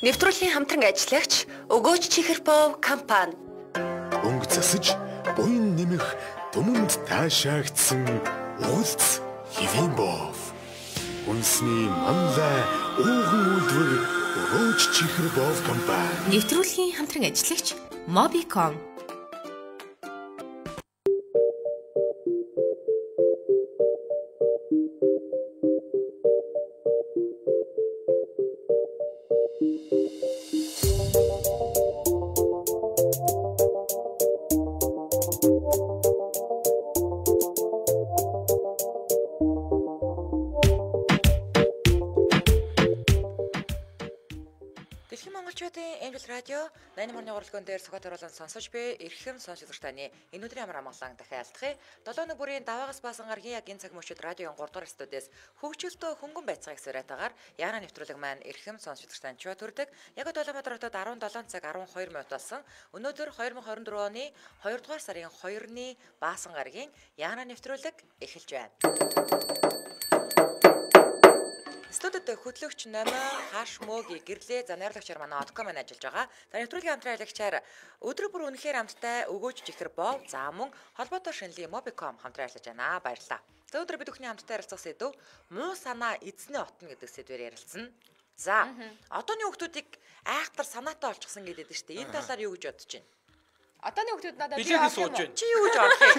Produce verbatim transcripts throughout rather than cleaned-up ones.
Нэвтрүүлгийн хамтран ажиллагч Өгөөч Чихэрбов компани. Өнгө засаж, буян нэмэх түмэнд таашаагдсан уулз Хивэнбов. Үнсний манлай ууган үлдвэр Өгөөч Чихэрбов компани. Нэвтрүүлгийн хамтран ажиллагч Mobicom. Радио найман орны уралдаан дээр цогт оруулан сонсож буй эрхэм сонсогч таны энэ өдрийн амар амгалан дахин айлтгая. долоо бүрийн даваагаас баасан гаргийн яг энэ цаг мөчид радиогийн гурав дахь студиэс хөгжөлтөө хөнгөн байцгааг сураатаагаар яана нэвтрүүлэг маань эрхэм сонсогч тань чуу төрдөг. Яг Улаанбаатар хотод арван долоо цаг арван хоёр минут болсон. Өнөөдөр две тысячи двадцать четыре оны хоёр дугаар сарын хоёрны баасан гаргийн яана нэвтрүүлэг эхэлж байна. Студид хөтлөгч Номи Хаш Мөгийн гэрлээ за найрлагчаар манай Одко маань ажиллаж байгаа. За нэвтрүүлгийн хамтран ажиллагчаар өдөр бүр үнэхээр амттай Өгөөч Чихэрбов за мөн холбоотой шинэлийн Mobicom хамтран ажиллаж байна. Баярлалаа. За өдөр бид бүхний хамттай харилцах сэдв муу санаа эзний отно гэдэг сэдвээр ярилцсан. За одооны хүүхдүүдийг айхтар санаатай олчихсан гэдэг нь шүү дээ. Энэ талаар юу гэж бодож байна? Одооны хүүхдүүд надад би сууж байна. Чи юу гэж орлоо?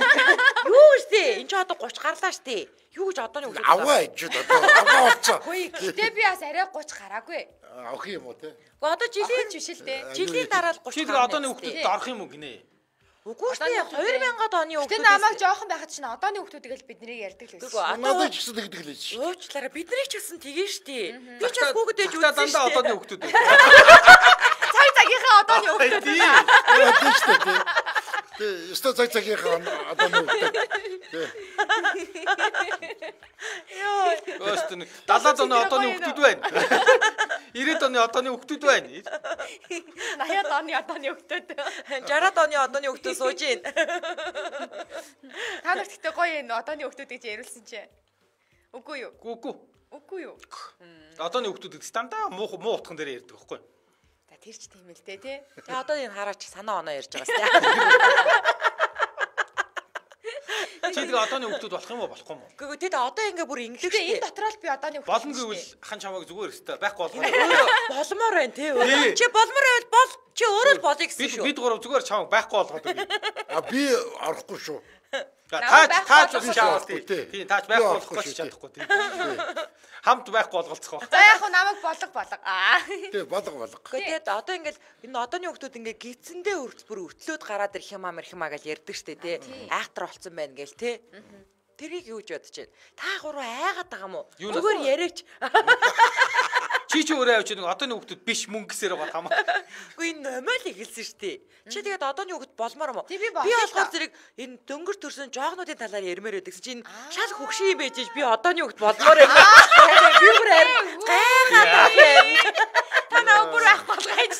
Юу гэж тий? Энд чи одоо тридцать гарлаа шүү дээ. Юу гэж одооны хүүхдүүд аваа иж одоо аваа олцоо. Хөөе гэтээ би бас арай тридцать гараагүй. Авах юм уу те? Гэхдээ одоо жилийн биш л дээ. Жилийн дараа л тридцать. Чи тэгээ одооны хүүхдүүдэд орох юм уу гинэ? Үгүй шүү дээ. две тысячи оны хүүхдүүд. Тэ намайг жоохон байхад чинь одооны хүүхдүүдийг л биднийг ярьдаг л байсан. Надад ч гэсэн тэгдэг л байж. Уучлаарай биднийг ч гэсэн тэгэн штий. Би ч бас хүүхдэж үзсэн. Дандаа одооны хүүхдүүд. Цаг цагийнхаа одооны хүүхдүүд. Тийм шүү дээ. Тэ өстө цаг цагийнхаа одооны хүүхдүүд. Йоо. Өстө дадлаад оны одооны хүүхдүүд байна. ирээд оны одооны хүүхдүүд байна. наяад оны одооны хүүхдүүд. жараад оны одооны хүүхдүүд сууж гин. Та нарт ихтэй гоё энэ одооны хүүхдүүдийг чи яриулсан чи. Үгүй юу? Үгүй. Үгүй юу? Одооны хүүхдүүд дандаа муу муу утган дээр ярьдаг байхгүй. За тэр ч тийм л дээ тий. Тэгээ одоо энэ хараач санаа оноо ярьж байгаа сте. Чи тэгээ одооны хүүхдүүд болох юм уу болохгүй юм уу? Гэхдээ тэд одоо ингээ бүр инглиш штэ. Энэ дотроо л би одооны хүүхдүүд. Болно гэвэл хан чамайг зүгээр өстэй байхгүй болгоо. Боломоор байна тий. Чи боломоор байвал бол чи өөрөө л болъё гэсэн шүү. Бид гурав зүгээр чамайг байхгүй болгоод өгье. А би орохгүй шүү. Тааж тааж бас чамайг тий. Тийм тааж байхгүй болохгүй ч чадахгүй тий. Хамт байхгүй болголцох байх. За яг хөө намайг болго болго. Аа. Тий болго болго. Гэхдээ одоо ингээл энэ одооны хүүхдүүд ингээ гидсэндээ бүр өтлөөд гараад ирэх юм аа мэрх юм аа гэж ярьдаг штэ тий. Айхтар болцсон байна гээл тий. Тэрийг юу гэж бодож байна? Та гурав айгаад байгаа юм уу? Зүгээр яриач. Чи ч өөрөө авч нэг одооны хүүхдүүд биш мөнгө гэсээр байгаа тамаа. Үгүй энэ номол ихэлсэн штэ. Чи тэгээд одооны хүүхд болмоор юм уу? Би болохоор зэрэг энэ дөнгөр төрсөн жоохнуудын талаар ярмаар байдаг чинь шал хөгшин байж би одооны хүүхд болмоор юм. Би бүр гайхаад байна. Та наа бүр ах болгооч.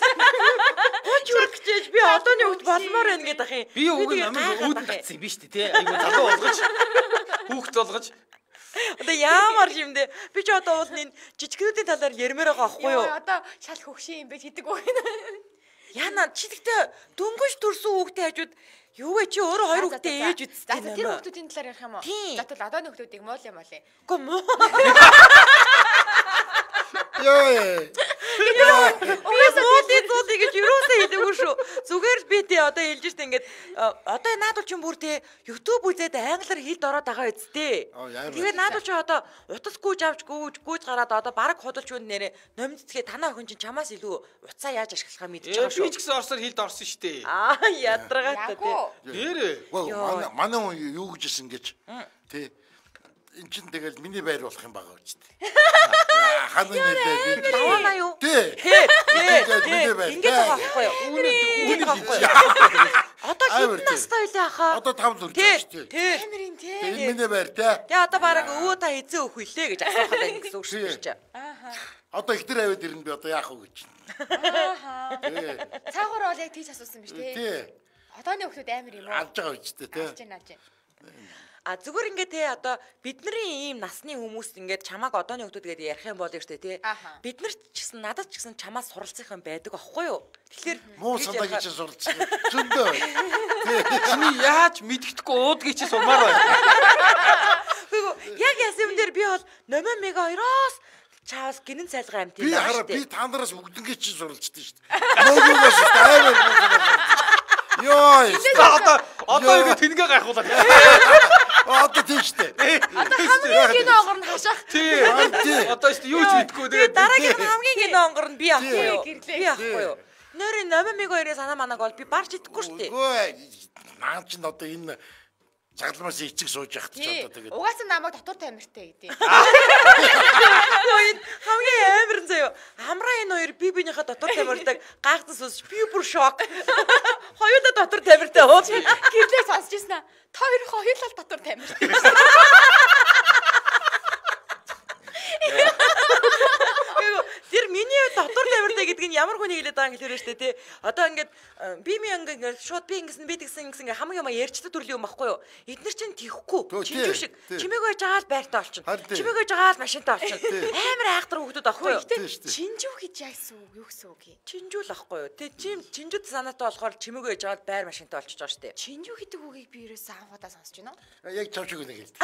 Хоч үргэж би одооны хүүхд болмоор байна гэдэг ах юм. Би уг намайг үүдэн татсан юм биш үү те? Айгу залуу болгож хүүхд болгож одоо ямар юмдээ би ч одоо уул энэ жижигнүүдийн талаар ярмаар байгаа байхгүй юу? Одоо шал хөгшин юм бэ гэдэг үг. Яна чи тэгтээ дөнгөж төрсөн хүүхдээ хажууд юу вэ чи өөрөө хоёр хүүхдээ ээж үзсэн. За тэр хүүхдүүдийн талаар ярих юм уу? За тэгвэл одооны хүүхдүүдийг муул юм болъё. Үгүй муу. Яа. Уусаа зуудыг гэж юусаа хэлээгүй шүү. Зүгээр л би тий одоо хэлж штэ ингээд одоо наадвал ч юм бүр тий YouTube үзээд англиар хэлд ороод байгаа үсттэй. Тэгээд наадвал ч одоо утас гүйж авч гүйж гүйж гараад одоо баг худалч үн нэрэ номдцгээ танаа охин чинь чамаас илүү уцаа яаж ашиглахаа мэдчихэж байгаа шүү. Би ч гэсэн орсоор хэлд орсон штэ. Аа ядаргатай тий. Нэрээ. Манай манай хүн юу гэжсэн гэж тий эн чин тэгэл миний байр болох юм байгаа үст. Ханаа нэлээд тавана юу? Тий. Тий. Миний байр. Ингээд байгаа байхгүй юу? Үүний үүний байхгүй юу? Одоо хэдэн настай байлаа хаа? Одоо таван хүрч байгаа шүү дээ. Тий. Амирын тий. Энэ миний байр тий. Тэгээ одоо бараг өвөө та эзэн өөх хүлээ гэж асуухад байна гэсэн үг шүү дээ. Ааха. Одоо ихтер аваад ирнэ би одоо яах вэ гэж. Ааха. Тий. Цаагаар бол яг тийч асуусан биз тий. Тий. Одооны хүүхдүүд амир юм уу? Алж байгаа үст тий. Алж байна алж байна. А зүгээр ингээд те одоо бидний ийм насны хүмүүс ингээд чамааг одооны хүмүүс гэдэг ярих юм бол штэ те. Бид нар ч гэсэн надад ч гэсэн чамаас суралцах юм байдаг аахгүй юу? Тэгэхээр муу санаа гэж суралцах зөндөө. Чиний яаж мэддэхгүй уудгийг чи сурмаар байна. Яг яс юм дээр би бол номер мега хоёроос чаас гинэн цайлгаа амт юм байна. Би хараа би та нараас бүгднгээ чи суралцдаг шүү дээ. Нөгөөс аймаар муу санаа. Йоо. Одоо одоо ингэ тэнгээ гайхуулаад. Одоо тийштэй. Одоо хамгийн гинэ онгор нь хашаах. Тий. Одоо шүү дээ юу ч мэдгүй тэгээд дараагийн хамгийн гинэ онгор нь би ахгүй юу? Би ахгүй юу? Нэрийн номер мега хоёрын санаа манаг бол би барч идэхгүй шүү дээ. Үгүй наа чи одоо энэ цагламаас эцэг сууж яхад ч одоо тэгээд угаасаа намайг дотор тамиртай гэдэг. Хамгийн амар нь заяа. Амраа энэ хоёр би бинийхээ дотор тамиртайг гайхсан сүс би бүр шок. Хоёулаа дотор тамиртай уу? Гэрлээ сонсч ирсэн аа. Та хоёр хоёулаа дотор тамиртай. Тэр миний дотор тамиртай гэдэг нь ямар хүний хэлээд байгаа юм хэлээ штэ тий. Одоо ингээд би ми ингээд шууд би ингэсэн би тэгсэн ингэсэн хамгийн юм ярьчдаг төрлийн юм баггүй юу? Эднэр чинь тийхгүй. Чинжүү шиг. Чимээг байж байгаа л байртаа олчихно. Чимээг байж байгаа л машинтаа олчихно. Амар айхтар хүүхдүүд баггүй юу? Чинжүү гэж яасан үг юу гэсэн үг юм? Чинжүү л баггүй юу? Тэ чим чинжүүд санаатай болохоор чимээг байж байгаа л байр машинтаа олчиж байгаа штэ. Чинжүү гэдэг үгийг би ерөөсөө анхудаа сонсч байна уу? Яг чав шиг нэг хэлдэг.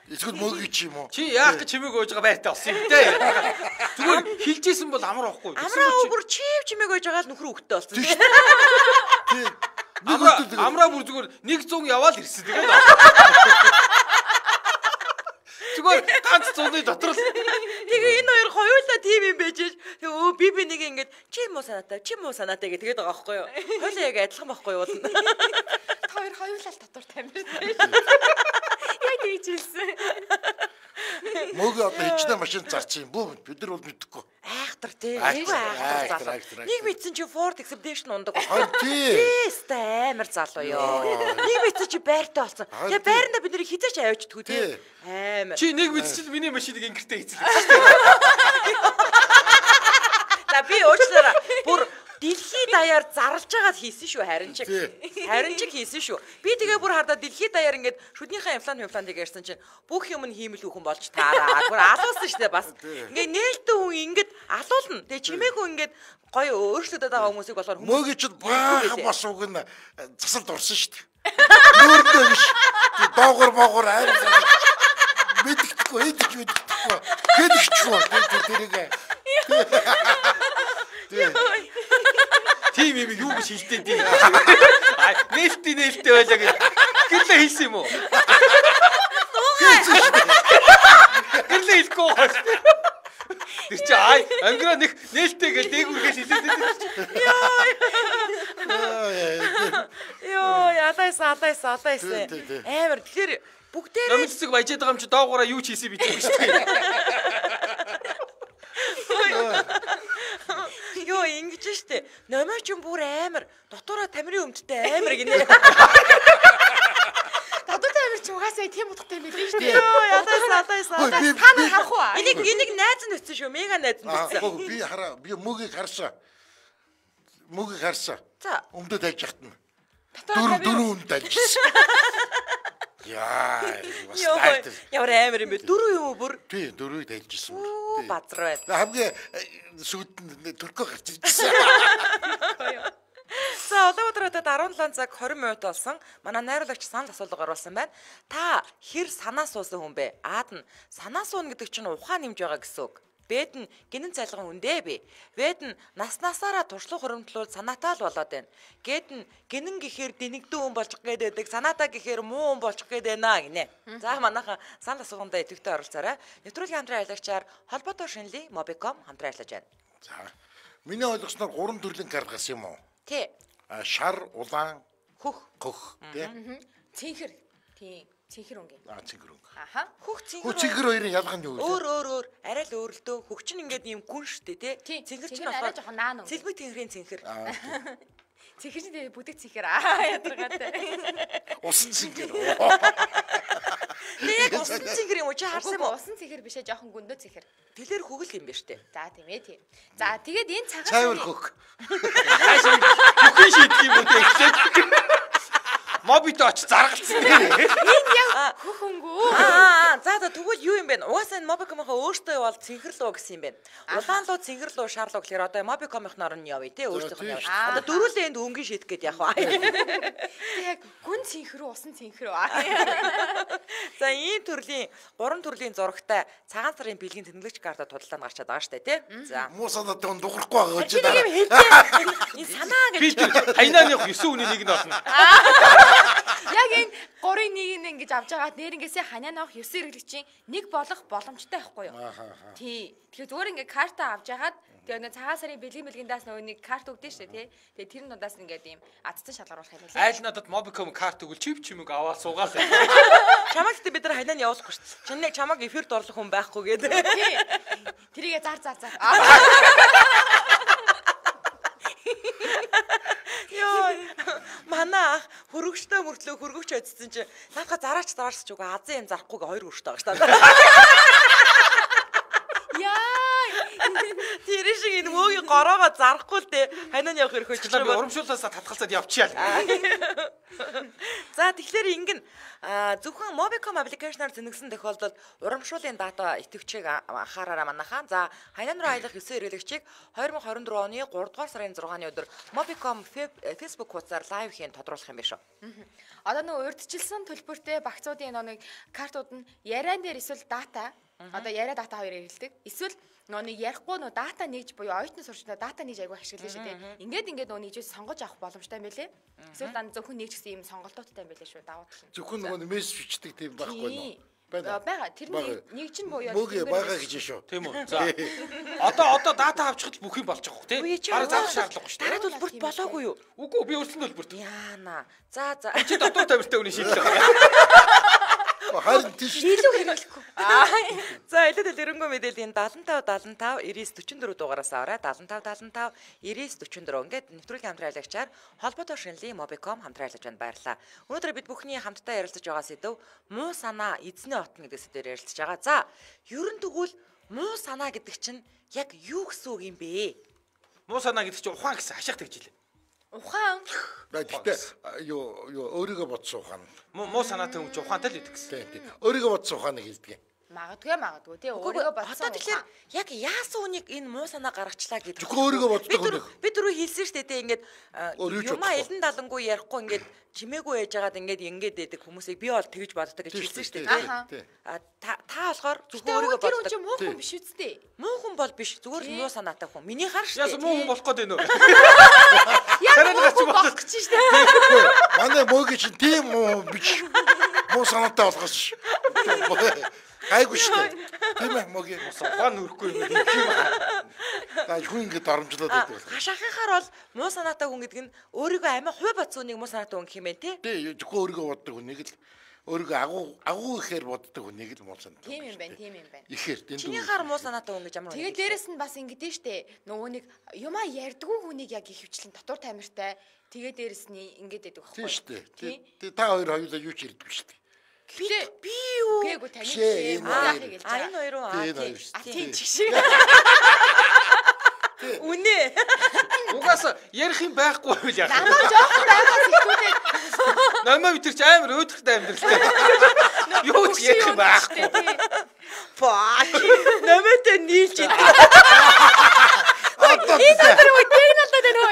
Эсвэл мөгийг чи юм уу? Чи яах гэж чимээг ууж байгаа байртаа олсон юм дээ. Зүгээр хилжсэн бол амар ахгүй. Амраа бүр чив чимээг ууж байгаа л нөхөр хөвгтэй болсон. Тий. Амраа амраа бүр зүгээр нэг зуун яваал ирсэн тэгээд. Зүгээр ганц зууны дотор л тэгээ энэ хоёр хоёулаа тийм юм байж өө би би нэг ингэж чи муу санаатай чи муу санаатай гэдэг байгаа байхгүй юу? Хоёулаа яг адилхан байхгүй юу? Та хоёр хоёулаа дотор тамиртай. Яг ийж хэлсэн. Мөг одоо хичнээн машин зарчих юм бүү бид нар бол мэдэхгүй. Айхтар тий. Айгүй айхтар. Нэг мэдсэн чи Ford Expedition ундаг байна. Тий. Тэстэй амар залуу ёо. Нэг мэдсэн чи байртай болсон. Тэгээ байранда бид нарыг хизээч авчдгүү тий. Амар. Чи нэг мэдсэн чи миний машиныг ингэртэй хийцэлээ. За би уучлаарай. Бүр дэлхий даяар зарлж байгаад хийсэн шүү харин чиг. Харин чиг хийсэн шүү. Би тэгээ бүр хардаа дэлхий даяар ингээд шүднийхээ имплант имплантыг ярьсан чинь бүх юм нь хиймэл хүүхэн болж таараа. Бүр алуулсан шүү дээ бас. Ингээд нээлттэй хүн ингээд алуулна. Тэгээ чимээгүй ингээд гоё өөрчлөлтөд байгаа хүмүүсийг болохоор мөгийн чинь баахан бас уг нь засалд орсон шүү дээ. Нүүрдээ биш. Доогор моогор айр мэддэхгүй хэдэж мэддэхгүй. Хэдэгчгүй тэрийг. Тим юм юу гэж хэлдэг дээ. Аа нээлттэй нээлттэй байлаа гэж гэрлээ хэлсэн юм уу? Гэрлээ хэлэхгүй. Тэр чи ай ангира нэг нээлттэй гэж дээгүүргээс хэлээд байдаг. Йоо ядайс адайс адайс. Амар тэгэхээр бүгдээрээ номын цэцэг баяжаад байгаа юм чи доогоороо юу ч хийсэн битээ гэж тийм. Йоо ингэж штэ. Номоо ч бүр амар дотоороо тамирын өмдтэй амар гинэ. Дотор тамир ч угаасаа тийм утгатай мэлээ штэ. Йоо ядайс адайс адайс. Та нар харах уу? Энийг энийг найз нь өцсөн шүү. Мега найз нь өцсөн. Би хараа би мөгийг харсан. Мөгийг харсан. За. Өмдөд ажиж хатна. Дөрөв дөрөв өмд ажилласан. Яа, бас таартай. Ямар амар юм бэ? Дөрөв юм уу бүр? Тий, дөрөвийг тайлжсэн. Базар байд. Хамгийн сүйд төркөө гарч ирсэн. За одоо өдрөдөд арван долоо цаг хорин минут болсон. Манай найруулагч санал асуулга оруулсан байна. Та хэр санаа суусан хүн бэ? Аад нь санаа суuna гэдэг чинь ухаан нэмж байгаа гэсэн үг. Бэд нь гинэн цайлган үндэ би. Бэд нь наснасаараа туршлага хуримтлуул санаатай л болоод байна. Гэд нь гинэн гэхээр дэнэгдэн хүн болчих гээд байдаг. Санаатай гэхээр муу хүн болчих гээд байна гинэ. За манайхан санал асуулганд идэвхтэй оролцоорой. Нэвтрүүлгийн хамтран аялагчаар холбоотой шинэлийн Mobicom хамтран ажиллаж байна. За. Миний ойлгосноор гурван төрлийн карт гас юм уу? Тий. Шар, улаан, хөх, хөх, тий. Цэнхэр. Тий. Цэнхэр өнгийн. Аа цэнхэр өнг. Аха. Хөх цэнхэр. Хөх цэнхэр хоёрын ялгаа нь юу вэ? Өөр өөр өөр арай л өөр л дөө. Хөх чинь ингээд ийм гүн штэ тий. Цэнхэр чинь арай жоохон наан өнг. Цэлбэг цэнхрийн цэнхэр. Цэнхэр чинь тэгээ бүдэг цэнхэр аа ядаргаатай. Усан цэнхэр. Яг усан цэнхэр юм уу чи харсан юм уу? Усан цэнхэр бишээ жоохон гүндөө цэнхэр. Тэлэр хөгөл юм ба штэ. За тийм ээ тийм. За тэгээд энэ цагаан цайвар хөх. Хаашаа бүхэн шийдэх юм уу те. Мобит очиж заргалцсан. Энэ яг хөхөнгөө. Аа за за тэгвэл юу юм бэ? Угаасаа энэ Mobicom-ийнхаа өөртөө бол цэнхэрлөө гэсэн юм байна. Улаан луу цэнхэрлөө шаарлуу гэхээр одоо Mobicom-ийн орн нь явъя те өөртөөх нь явъя. Одоо дөрүүлээ энд өнгөн шийдэх гээд явах. Яг гүн цэнхрүү усан цэнхрүү. За ийм төрлийн гурван төрлийн зурагтай цагаан сарын бэлгийн тэмдэглэгч карта тудалдаа нь гарчаад байгаа штэ тий. За Муу санаатай хүн дуурахгүй байгаа гэж байна. Энэ санаа гэж. Би хайнааны ёсоо үний нэг нь болно. Яг энэ гурын нэг нь ингэж авч байгаа нэрнгээсээ ханианах ёсоо хэрэглэгчийн нэг болох боломжтой байхгүй юу? Тий. Тэгэхээр зүгээр ингээ карта авч ягаад тэгээ нэг цагаан сарын бэлгийн бэлгиндээс нөгөө нэг карт өгдөө штэ тий. Тэгээ тэр нь удаас ингээд ийм азцсан шалгаруулах юм байна. Айл надад Mobicom карт өгөл чип чимэг аваад суугаал. Чамаг гэдэг бид нар хайнаа явуулахгүй шүү дээ. Чиний чамаг эфирт орлох хүн байхгүй гэдэг. Тий. Тэрийгэ зар зар зар. Йоо. Манай хөргөчтэй мөртлөө хөргөч адсан чи наадха зараач зараарч үгүй азын юм зарахгүйгээ хоёр өрштэй байгаа шүү дээ. Яа. Тэр шиг энэ мөөгийн гороогоо зарахгүй л дээ. Хайнаа явах хэрэг хөчлөө би урамшуулаасаа татгалцаад явчихъя л. За тэгэхээр ингэн зөвхөн Mobicom application-аар зэнэгсэн тохиолдолд урамшууллын дата идэвхжийг анхаараарай манайхаа. За хайнан руу аялах ёсоо хэрэглэгчийг хоёр мың хорин дөрөв оны гурав дугаар сарын зургааны өдөр Mobicom Facebook хуудасаар лайв хийн тодруулах юм биш үү? Одоо нөгөө урьдчилсан төлбөртэй багцуудын нэг картууд нь яриан дээр эсвэл дата одоо яриа дата хоёр хэрэгэлдэг. Эсвэл нөгөө нэг ярихгүй нөгөө дата нэгж буюу оюутны сурчнаа дата нэгж аягүй ашиглаж шүү дээ. Ингээд ингээд нөгөө нэгж сонгож авах боломжтой юм байлээ. Эсвэл дан зөвхөн нэгж гэсэн юм сонголтуудтай юм байлээ шүү давуу тал. Зөвхөн нөгөө мессеж бичдэг тийм байхгүй нөө. Байна. Бага тэр нэг чинь буюу мөг бага гэж шүү. Тийм үү. За. Одоо одоо дата авчихад бүх юм болж байгаа хөө тий. Бараг заах шаардлагагүй шүү. Дараа төлбөрт болоогүй юу? Үгүй би өрсөн төлбөрт. Яана. За за. Чи дотор тавиртай үний шийдэл байгаа. Харин тийш. Илүү хэрэглэхгүй. За элэдэл эрэнгөө мэдээллийн седем пять седем пять девять четыре дөрвөн дугаараас аваарай. седем пять седем пять девять четыре дөрвөн ингээд нэвтрүүлгийн хамтраалагчаар холбоотой шинэлийн Mobicom хамтраалагч байна баярлалаа. Өнөөдөр бид бүхний хамтдаа ярилцаж байгаа сэдв муу санаа эзний отно гэдэг сэдвээр ярилцаж байгаа. За ерөн тэгвэл муу санаа гэдэг чинь яг юу гэсэн үг юм бэ? Муу санаа гэдэг чинь ухаан гэсэн хашаах тэгж илээ. Ухаан. Гэхдээ юу юу өөрийгөө бодсон ухаан. Муу санаатай хүн ч ухаантай л гэдэг гэсэн. Тийм. Өөрийгөө бодсон ухааныг хэлдэг. Магадгүй магадгүй тий өөрийгөө бодсон. Одоо тэгэхээр яг яасан үнийг энэ муу санаа гаргачлаа гэдэг. Зөвхөн өөрийгөө боддог хүн. Би түрүү хэлсэн шүү дээ тий ингээд юмаа элен далангуй ярихгүй ингээд чимээгүй яж байгаад ингээд ингээд дэдэг хүмүүсийг би бол тэгж боддог гэж хэлсэн шүү дээ тий. А та болохоор зөвхөн өөрийгөө боддог. Тэр хүн муу хүн биш үстэй. Муу хүн бол биш зүгээр л муу санаатай хүн. Миний хар шүү дээ. Яасан муу хүн болох гээд байна уу? Яг муу болох гэж шүү дээ. Манай мөөг чинь тийм муу биш. Муу санаатай болгосон шүү. Айгуу шүү. Тийм ээ мөгийн ухаан нүрэхгүй юм. Тай хүн ингэ дарамжлаад байдаг. Хашаахаар бол муу санаатай хүн гэдэг нь өөрийгөө амин хувь бодсон нэг муу санаатай хүн гэх юм байна тий. Тий, зөвхөн өөрийгөө боддог хүнийг л өөрийгөө агуу агуу ихээр боддог хүнийг л муу санаатай. Тийм юм байна, тийм юм байна. Ихээр тэнд. Чиний хар муу санаатай хүн гэж ямар вэ? Тэгээд дээрэс нь бас ингэдэж штэ. Нөгөө нэг юмаа ярьдгүй хүнийг яг их хвчлэн дотор тамиртай. Тэгээд дээрэс нь ингэдэж байдаг байхгүй. Тийм штэ. Тий, та хоёр хоёулаа юу ч ярьдгүй штэ. Би би юу? Гээгүй тань чи яахыг хэлж байгаа. А энэ хоёр уу? А тийм ч шиг. Үнэ. Угаасаа ярих юм байхгүй байл яах. Намаа жоохон байгаас ихгүйтэй. Намаа би тэр чи амар өөдрөхтэй амьдралтай. Юу ч ярих юм байхгүй. Паа. Намаатай нийлж идэв. Энэ тэр үеийг надад энэ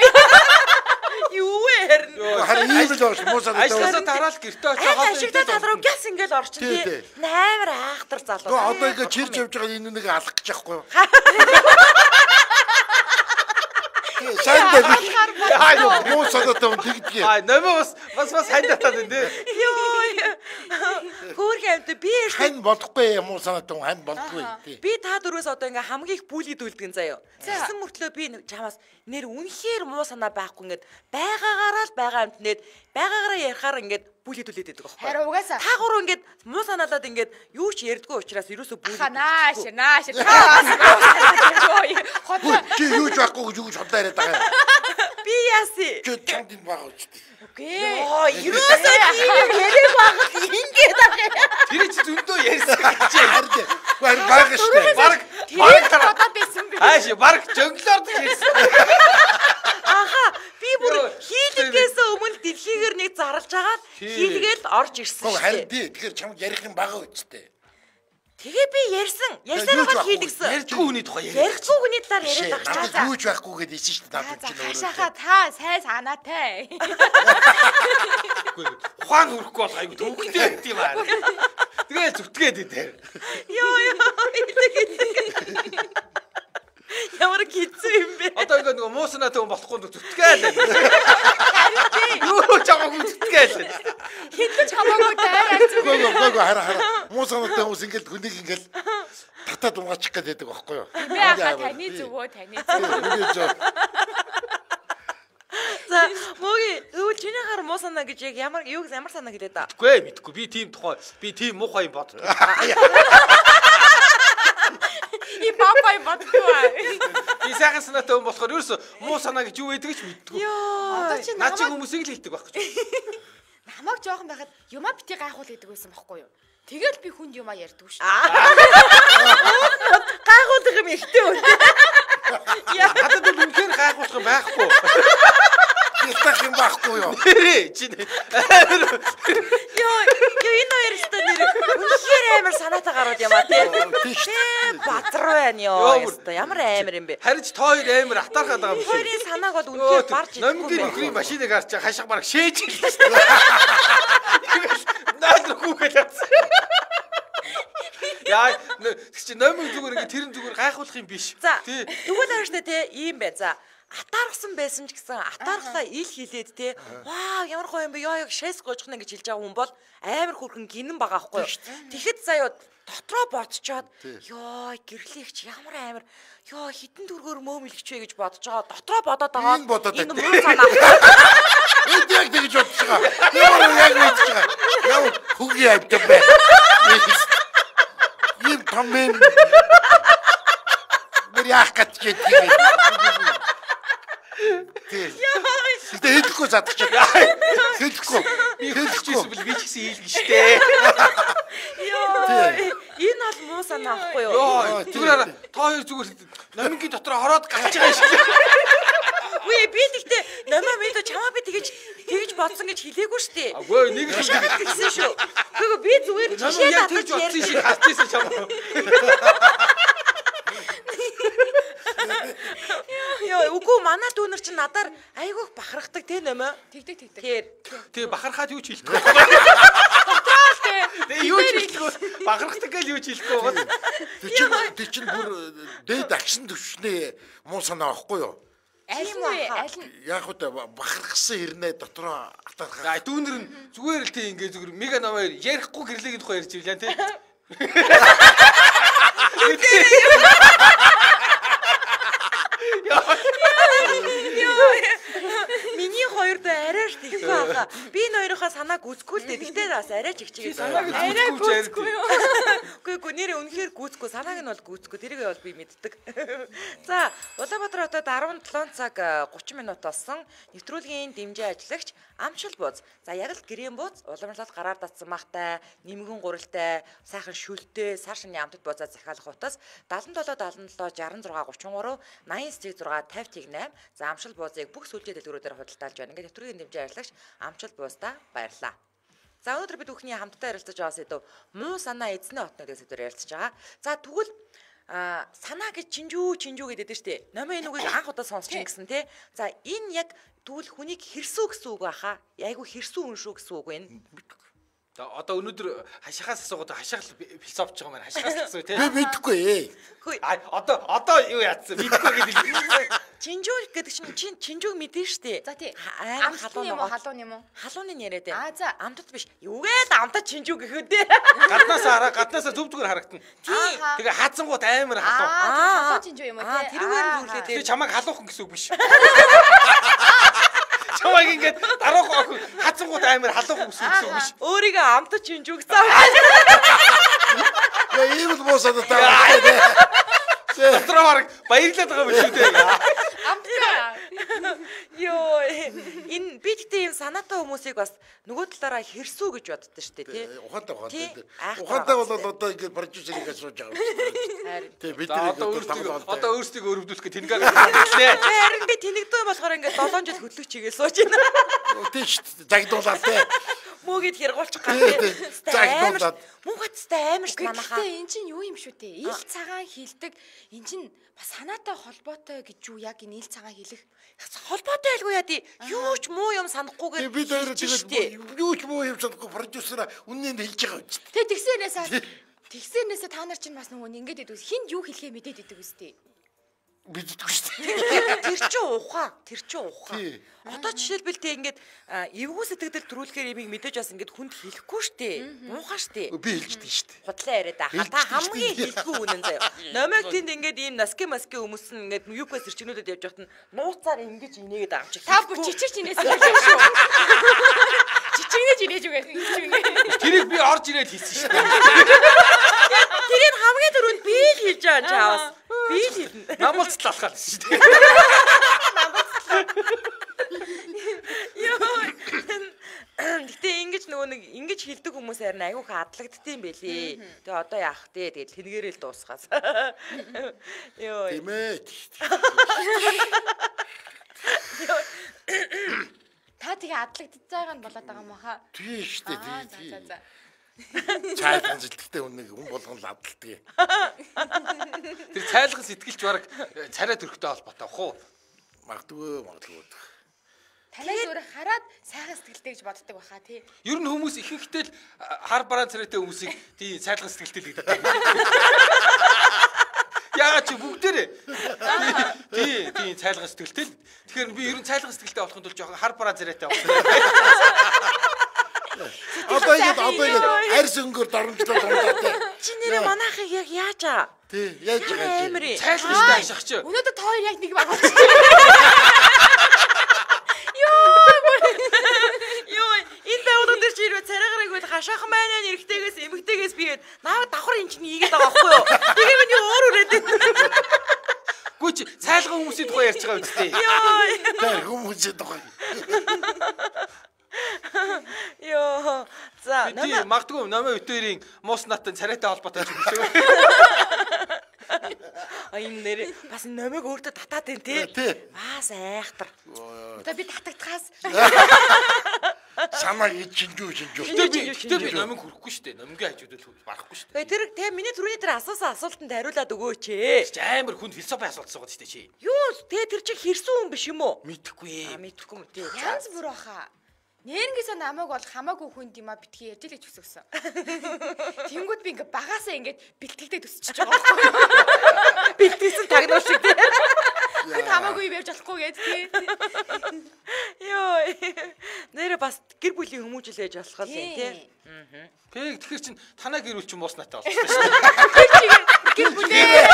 юу вэ? Харин ийм л ууш муу санаатай. Ажлаасаа тараал гэртээ очиж хаад ашигтай талруу гяс ингээл орчин тий. Наймар аахтар залуу. Гоо одоо ингэ чирж явж байгаа энэ нэг алах гэж яахгүй юу? Сайн дээ. Яа юу муу санаатай хүн тэгдэг. Аа нэмээ бас бас бас хандатаад байна тий. Йоо. Хөөрхөн амт би хань болохгүй муу санаатай хүн хань болохгүй тий. Би та дөрөөс одоо ингээ хамгийн их бүлийд үлдгэн заяа. Тэгсэн мөртлөө би чамаас нэр үнэхээр муу санаа байхгүй ингээд байгаагаараа л байгаа амт нэд байгаагаараа ярихаар ингээд бүлийд үлдээд байдаг байхгүй. Харин угаасаа та гурав ингээд муу санаалаад ингээд юу ч ярьдгүй учраас ерөөсөө бүлийд. Нааш нааш таас. Чи юу ч байхгүй гэж юу ч хотлоо яриад байгаа. Би яаси. Чи чамд юм байгаа үстэй. Окей. Йоо, ерөөсөө тийм яриаг багт ингээд байгаа. Тэр чи зөндөө ярьсан гэж харин. Баг баг штэ. Баг тэр бодоод байсан би. Ааш баг жонглоор ярьсан. Аха, би бүр хийлгээс өмнө дэлхийг нэгнийгээр нэг зарлж агаад хийлгээл орж ирсэн шүү. Харин тий тэгэхээр чамд ярих юм байгаа үсттэй. Тэгээ би ярьсан. Ярьсараа хийдгсэн. Ярьдгүй хүний тухай яриа. Ярихгүй хүний талаар яриад байгаа ч юу ч байхгүй гэдээ ийсэн шүү дээ. Надад чинь өөрөө. Хашаха та сайн санаатай. Ухаан хөрөхгүй бол айгу төвхтэй гэдэг юм аа. Тэгэл зүтгээд идэ. Йоо ёо. Ямар гизүү юм бэ? Одоо ингэ нөгөө муусанаа төв болохгүй зүтгээл. Юу чамаагүй зүтгээл. Хиндэж хамаагүй даа. Гөө гөө гөө хараа хараа. Муусанаатай хүмүүс ингээл хүнийг ингээл татаад унгаачих гэдэг байхгүй юу? Би ахаа таны зүгөө таны зүгөө. За моги өө чиний хар муу санаа гэж яг ямар юу ямар санаа хэлээд та? Үгүй мэдгүй. Би тийм тухай би тийм муухай юм боддог. И папай боддгоо. Би сайхан санаатай хүн болохоор ерөөсө муу санаа гэж юу байдаг ч мэддэггүй. Йоо. Наа чи хүмүүсийг л хэлдэг байхгүй ч. Намайг жоохон байхад юмаа бити гайхуул гэдэг байсан байхгүй юу? Тэгэл би хүнд юмаа ярьдгүй шүү. Гайхуулах юм ихтэй үү? Яа, надад бол үнхээр гайхуулах юм байхгүй. Хэлэх юм байхгүй юу? Чи Йоо, ёо энэ хоёр өстө нэр үнхээр амар санаатай гарууд юм аа тий. Бадруу байна ёо өстө ямар амар юм бэ? Харин ч тоо хоёр амар атаархаад байгаа юм шиг. Хоёрын санааг бол үнхээр барж идэхгүй. Номгийн нөхрийн машиныг харж хашаа бараг шээж хэлсэн шүү дээ. Наад хүүхэд атсан. Яа, чи номгийн зүгээр ингээ тэрэн зүгээр гайхуулах юм биш. За, тэгвэл ааш тэ ийм бай. За атаархсан байсан ч гэсэн атаархлаа ил хилээд те ваа ямар гоё юм бэ ёо ёо шээс гоожхна гэж хэлж байгаа хүн бол амар хүрхэн гинэн байгаа байхгүй юу. Тэгэхэд заяа дотроо бодцоод ёо гэрлэгч ямар амар ёо хитэн дүргөөр мөөмөлгч вэ гэж бодож байгаа. Дотроо бодоод байгаа. Энэ муу санаа. Энд яг тэгж бодож байгаа. Ямар яг мэдж байгаа. Яа хүүгийн авдаг бай. Ийм том юм. Мэр яах гэж тэгээд. Тэ хэлэхгүй задчих. Хэлэхгүй. Би хэлчихсэн бил би ч гэсэн хэлнэ штэ. Йоо. Энэ бол муу санаа ахгүй юу? Йоо, зүгээр та хоёр зүгээр номингийн дотор хороод гарч байгаа юм шиг. Үгүй би тэгтээ номоо мэдо чамаа би тэгэж тэгэж бодсон гэж хэлээгүй штэ. Үгүй нэг л хэлсэн шүү. Үгүй би зүгээр жишээ татаж ярьсан шиг хатчихсан чамаа. Яа, үгүй манай дүүнер чинь надаар айгүйх бахархдаг те нөмөө. Тэгдэг тэгдэг. Тэр. Тэгээ бахархаад юу ч хэлэхгүй. Тэгээ юу ч хэлэхгүй. Бахархдаг гэж юу ч хэлэхгүй гол. Тэг чинь тэг чинь бүр дээд агшин төвшнээ муу санаа авахгүй юу? Аль нь вэ? Аль нь? Яг хөтэ бахархсан хэрнээ дотроо атаархаа. Аа дүүнер нь зүгээр л тийм ингээ зүгээр мега номер ярихгүй гэрлэгийн тухай ярьж ирлээ те. Миний хоёр доо арай ч тийхгүй байгаа. Би энэ хоёрынхаа санааг үзгүй л дээ. Тэгтээ бас арай ч ихчигээ санааг арай гүйцэхгүй юу? Үгүй үгүй нэрээ үнэхээр гүйцэхгүй. Санааг нь бол гүйцэхгүй. Тэрийг бол би мэддэг. За, Улаанбаатар хотод арван долоо цаг гучин минут болсон. Нэвтрүүлгийн дэмжээ ажиллагч Амчил бууз. За яг л гэрэн бууз уламжлалт гараар татсан махтай, нэмгэн гурилтай, сайхан шүлтэй, сар шинийн амтд буузаа захиалах утас даалан долоо даалан долоо шаран зургаа гучин гурав найман сэтг зургаа тавьт игнэм. За Амчил буузыг бүх сүлжээ дэлгүүрүүдээр худалдаалж байна. Ингээд нэвтрүүлгийн дэмжээ ажиллагч Амчил буузтай баярлалаа. За өнөөдөр бид бүхний хамтдаа ярилцаж байгаа сэдв муу санаа эзний отнуудыг сэдвээр ярилцаж байгаа. За тэгвэл а санаа гэж чинжүү чинжүү гэдэг дээ штэ. Номын энэ үгийг анх удаа сонсч ин гэсэн те. За энэ яг тэгвэл хүнийг хэрсүү гэсэн үг баха. Айгу хэрсүү хүн шүү гэсэн үг вэ? Одоо өнөөдөр хашихаас асуугаад хашаал философч байгаа маань хашихаас асуу те. Би мэдэхгүй ээ. Хөөе. А одоо одоо юу яатсан? Мэдэхгүй гэдэг. Чинжүү гэдэг чинь чинжүүг мэдэн штэ. За тий. Амар халуун юм уу халуун юм уу? Халууны яриад байна. А за амтд биш. Юугээд амтд чинжүү гэхэд дээ. Гаднаас хараа гаднаас зөв зүгээр харагдана. Тэгээ хаацсангууд амар халуун. Аа халуун чинжүү юм уу тий. Тэрүүгээр нь хүлээд. Тэгээ чамайг халуухан гэсэн үг биш. Чамайг ингээд дараах охин хацангууд амар халуухан гэсэн үг биш. Өөрийгөө амтд чинжүү гэсэн. Яа ийм л муу санаатай. Дотроо баг баярлаад байгаа юм шүү дээ. Амтгаа. Йоо. Энэ би гэдэг юм санаатай хүмүүсийг бас нөгөө талаараа хэрсүү гэж боддоо шүү дээ, тий. Ухаантай ухаантай. Тий. Айх Ухаантай байгаа бол одоо ингэ продюсерийг асууж байгаа. Харин. Тий бид За, нэг одоо одоо өөрсдөө тоглоом. одоо өөрсдөө өрөвдүүлэх гэх тэнгээ гаргалээ. Харин би тэнэгдөө болохоор ингээд долоон жил хөдлөж чигээ сууж байна. Тий шүү дээ. Загдуулаад тий. Мөөгээд хэрэгуулчих Тий, гэх тий. Загдуулаад. Муугатстай амар ш манахаа. Гэхдээ эн чинь юу юм шүү дээ? Ил цагаан хилдэг. Эн чинь бас санаатай холбоотой гэж юу яг энэ ил цагаан хилэх Холбоотой байлгүй яа тий. Юу ч муу юм санахгүйгээр Бид хоёр тэгээд юу ч муу юм санахгүй продюсераа үнэнд хэлж байгаа үст. Тэ тэгсэрнээс тэгсэрнээсээ та нар чинь бас нөгөө ингээд идэв. Хинд юу хэлхээ мэдээд идэв үстэй. Биддэггүй шүү дээ. Тэр чинь ухаан, тэр чинь ухаан. Тий. Одоо жишээлбэл тий ингээд эвгүй сэтгэл төрүүлэхээр имийг мэдээж бас ингээд хүнд хэлэхгүй штэ. Муухай штэ. Би хэлждэг шүү дээ. Худлаа яриад байгаа. Та хамгийн хэлэхгүй үнэн заяа. Номыг тэнд ингээд ийм наски маски хүмүүс нь ингээд юукас ирчнүүдэд явж байхад нь нууцаар ингэж инээгээд байгаа юм чи. Та бүр чичирч инээс хэлж шүү. Чичирнэж инээж үгээр хэлж үгээр. Тэрийг би орж ирээд хийсэн шүү дээ. Тэрийг хамгийн түрүүнд би л хийж байгаа юм чаавас. Би л хэлнэ. Намалцлаа алхаад шүү дээ. Гэтэ ингэж нөгөө нэг ингэж хэлдэг хүмүүс харин аюух адлагддсан байлээ. Тэгээ одоо яах вэ? Тэгэл тэнгээрээ л дуусгаас. Йоо. Тийм ээ. Та тэгээ адлагдчихж байгаа нь болоод байгаа юм хаа. Тийм шүү дээ. Аа Тийм. за за за. Цай ханзэлттэй үнэг хүн болгон л адалдаг. Тэр цайлган сэтгэлч бараг царай төрхтэй холбоотой ах уу? Магадгүй магадгүй. Танаас өөр хараад сайхан сэтгэлтэй гэж боддог баха тий. Ер нь хүмүүс ихэнхдээ л хар бараан царайтай хүмүүсийг тий цайлган сэтгэлтэй л гэдэг. Яагаад чи бүгдээрээ тий тий цайлган сэтгэлтэй л. Тэгэхээр би ер нь цайлган сэтгэлтэй болохын тулд жоохон хар бараан царайтай болох. Одоо ингэ одоо ингэ арьс өнгөөр доромжлоо дундаа тий. Чи нэрээ манайхыг яг яаж аа? Тий яаж байгаа юм. Амир. Цайлгантай ашигч. Өнөөдөр та хоёр яг нэг баг болчих. Йоо, энэ давуу дээр чи ирвэ царайгарыг бол хашаахан байна нэрхтэйгээс эмгтэйгээс бигээд наа давхар эн чинь ийгээд байгаа байхгүй юу? Тэгээ миний өөр үрээд байна. Гүч цайлган хүмүүсийн тухай ярьж байгаа үстэй. Йоо. Тэр хүмүүсийн тухай. Йоо. За, Би магадгүй номын өтөрийн муус натан царайтай холбоотой ч юм шиг. А энэ нэр бас номыг өөртөө татаад байна тий. Тий. Бас айхтар. Одоо би татагдхаас Самаа ичинжүү ичинжүү. Тэр би тэр би номыг хүрхгүй шүү дээ. Номгийн хажуудад барахгүй шүү дээ. Тэгээ тэр тэгээ миний түрүүний тэр асуусан асуултанд хариулаад өгөөч ээ. Амар хүнд философи асуулт суугаад шүү дээ чи. Юу тэгээ тэр чинь хэрсэн хүн биш юм уу? Мэдхгүй. А мэдхгүй юм тий. янз бүр баха. Нэрнгээсээ намайг бол хамаагүй хүнд юм а битгий ярьж л гэж хүссэн. Тэнгүүд би ингээ багаасаа ингээд бэлтгэлдээ төсчихөж байгаа байхгүй. Бэлтгэсэн тагнуул шиг тий. Би хамаагүй явж болохгүй гэж тий. Йоо. Нэрэ бас гэр бүлийн хүмүүжил ээж болох юм тий. Аа. Тэг тэгэхээр чин танаа гэр бүл чин муус натаа болсон шүү дээ. Гэр бүлээ.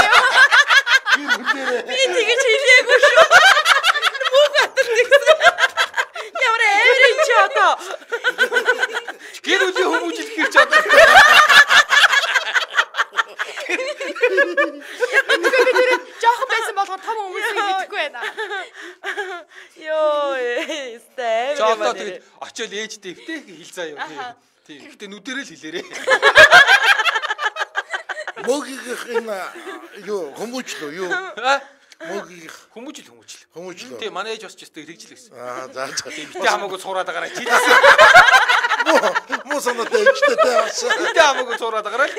Би тэгэж хэлээгүй шүү. Муу гатар тэгсэн. Ямар эврэн ч одоо. Гэр бүлийн хүмүүжил хэрч одоо. Яагаад би тэр жоохон байсан болохоор том хүмүүсийг мэдэхгүй байна. Йоо, сте. Жоо тэгээд очиод ээжтэй өвтэй хэл заа юу. Тийм. Гэтэ нүдэрэл хэлээрээ. Мөгийнх энэ юу хүмүүжлөө юу? Мөгийнх Хүмүүжил хүмүүжил. хүмүүжлөө. Тийм манай ээж бас ч өстой хэрэгжил гэсэн. Аа за за. Битээ хамаагүй цуураад байгаарай. Муу санаад ээжтэй таасан. Битээ хамаагүй цуураад байгаарай.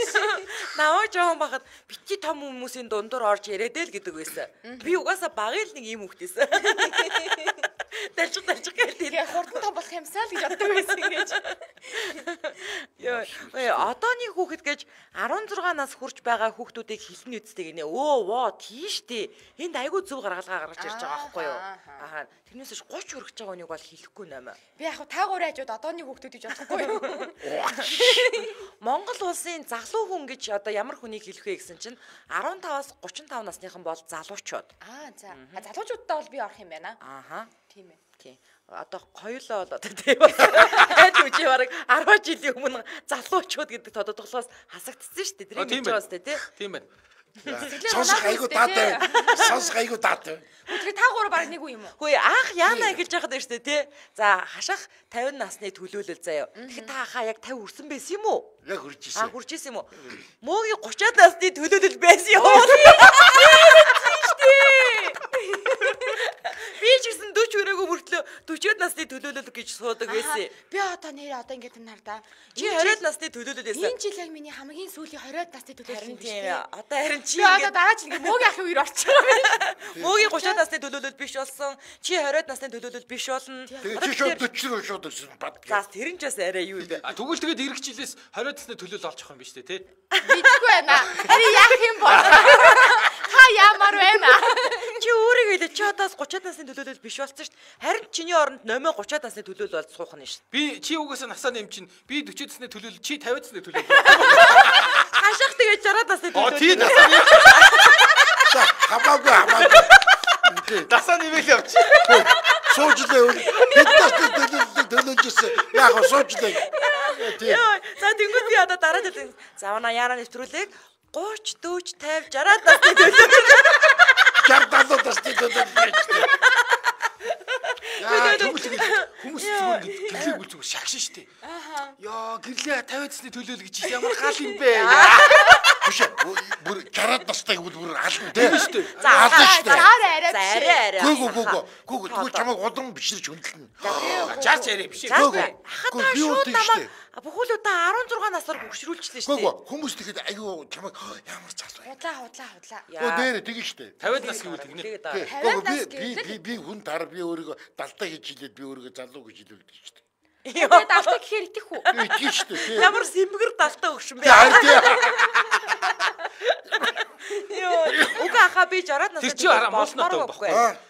Наваа жоохон бахад бити том хүмүүсийн дундуур орж яриад л гэдэг байсан. Би угаасаа багын л нэг юм хөхтэйсэн. Далж далж гэлээ. Тэгээ хурдан том болох юмсаа л гэж боддог байсан гэж. Йоо, одооний хүүхэд гэж арван зургаан нас хүрч байгаа хүүхдүүдийг хэлнэ үсттэй гинэ. Өө воо тийштэй. Энд айгүй зөв гаргалгаа гаргаж ирж байгаа байхгүй юу? Аа. Тэрнээс ч гуч хүрэж байгаа хүнийг бол хэлэхгүй нэмэ. Би яг та гурийн хажууд одооний хүүхдүүд гэж бодохгүй юу? Монгол улсын залуу хүн гэж одоо ямар хүнийг хэлэх вэ гэсэн чинь арван таваас гурван тав насныхан бол залуучууд. Аа за. Залуучуудтай бол би орох юм байна. Ааха. Тийм ээ. Тийм. Одоо хоёулаа бол одоо тийм хайж үжи бараг арван жилийн өмнө залуучууд гэдэг тодотголоос хасагдсан шүү дээ. Тэрийг хэлж байгаа сте тий. Тийм байна. Сонсох айгу таатай. Сонсох айгу таатай. Тэгэхээр та гурав баг нэг үү юм уу? Хөөе анх яана гэж яхад байна шүү дээ тий. За хашах тавин насны төлөөлөл заяа. Тэгэхээр та хаа яг тавин хүрсэн байсан юм уу? Яг хүрж ирсэн. Аа хүрж ирсэн юм уу? Мөөгийн гучаад насны төлөөлөл байсан юм уу? Би ч гэсэн дөрвөн өрөөгөө мөртлөө дөрвөн насны төлөөлөл гэж суудаг байсан. Би одоо нэр одоо ингэж нар да. Чи двадцать насны төлөөлөл байсан. Энэ жил яг миний хамгийн сүүлийн двадцать насны төлөөлөл юм тийм. Одоо харин чи би одоо дараа жил ингээ мөөгийн ахын үер орчих юм. Мөөгийн гучаад насны төлөөлөл биш болсон. Чи двадцать насны төлөөлөл биш болно. Тэгээ чи шууд дөрвөн шууд ирсэн бат. За тэр нь ч бас арай юу вэ? Тэгвэл тэгээд ирэх жилээс двадцать насны төлөөлөл олж авах юм биш үү те? Бичихгүй байна. Харин яах юм бол? Та ямар байна? Чи өөрийг хэлээ чи одоос тридцать насны төлөөлөл биш болсон шүү дээ. Харин чиний оронд номоо тридцать насны төлөөлөл бол суух нь шүү дээ. Би чи угаасаа насаа нэм чинь би forty насны төлөөлөл чи fifty насны төлөөлөл. Хашаах тэгээд sixty насны төлөөлөл. Оо тий насаа нэм. Хамаагүй хамаагүй. Насаа нэмэл явчих. Суужлаа. Хэд насны төлөөлөл төлөөлжсэн. Яг суужлаа. Яа, за тэнгууд би одоо дараа нь завна яараа нэвтрүүлэг thirty, forty, fifty, sixty насны төлөөлөл. Жардалууд насны төлөөлөл. Яа, хүмүүс хүмүүс зүгээр гэрлийг үл зүгээр шагшин штэ. Аа. Яа, гэрлээ fifty насны төлөөлөл гэж ямар гал юм бэ? Биш бүр sixty настай гэвэл бүр ална тийм штэ. За ална штэ. арай арай. Гүг гүг гүг гүг тэгвэл чамайг удан бишрэж хөндлөн. Чарч арай биш. Хатаа шууд намайг бүхүүлүүдээ sixteen насаар хөгшрүүлчихлээ штэ. Гүг хүмүүс тэгэхэд аюу чамайг ямар залуу. Худлаа худлаа худлаа. Оо дээр тэгэн штэ. fifty нас гэвэл тэгнэ. Гүг би би би хүн тар би өөрийгөө далтай гэж хэлээд би өөрийгөө залуу гэж хэлүүлдэг штэ. Тэгээд далтай гэхээр итэх үү? Итэх штэ тийм. Ямар сэмгэр далтай өгшин бэ? Йоо, уга аха би sixty настай. Тэр чи хараа молнотой байхгүй.